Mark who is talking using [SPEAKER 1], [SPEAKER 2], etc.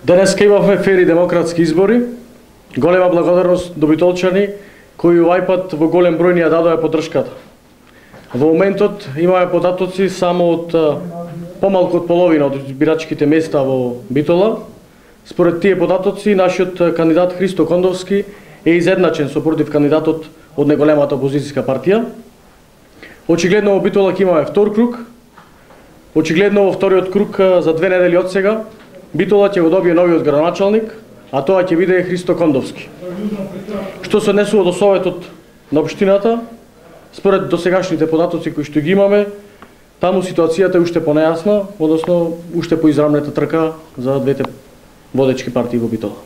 [SPEAKER 1] Денеска имавме фери демократски избори. Голема благодарност до битолчани кои овај пат во голем број ни ја дадоа поддршката. Во моментот имаме податоци само од помалку од половина од избирачките места во Битола. Според тие податоци, нашиот кандидат Христо Кондовски е изедначен со против кандидатот од неголемата опозицијска партија. Очигледно во Битола ќе имаме втор круг. Очигледно во вториот круг за 2 недели од сега Битола ќе го добие новиот градоначалник, а тоа ќе биде Христо Кондовски. Што се однесува до советот на општината, според досегашните податоци кои што ги имаме, таму ситуацијата е уште понејасна, односно уште поизрамнета трка за двете водечки партии во Битола.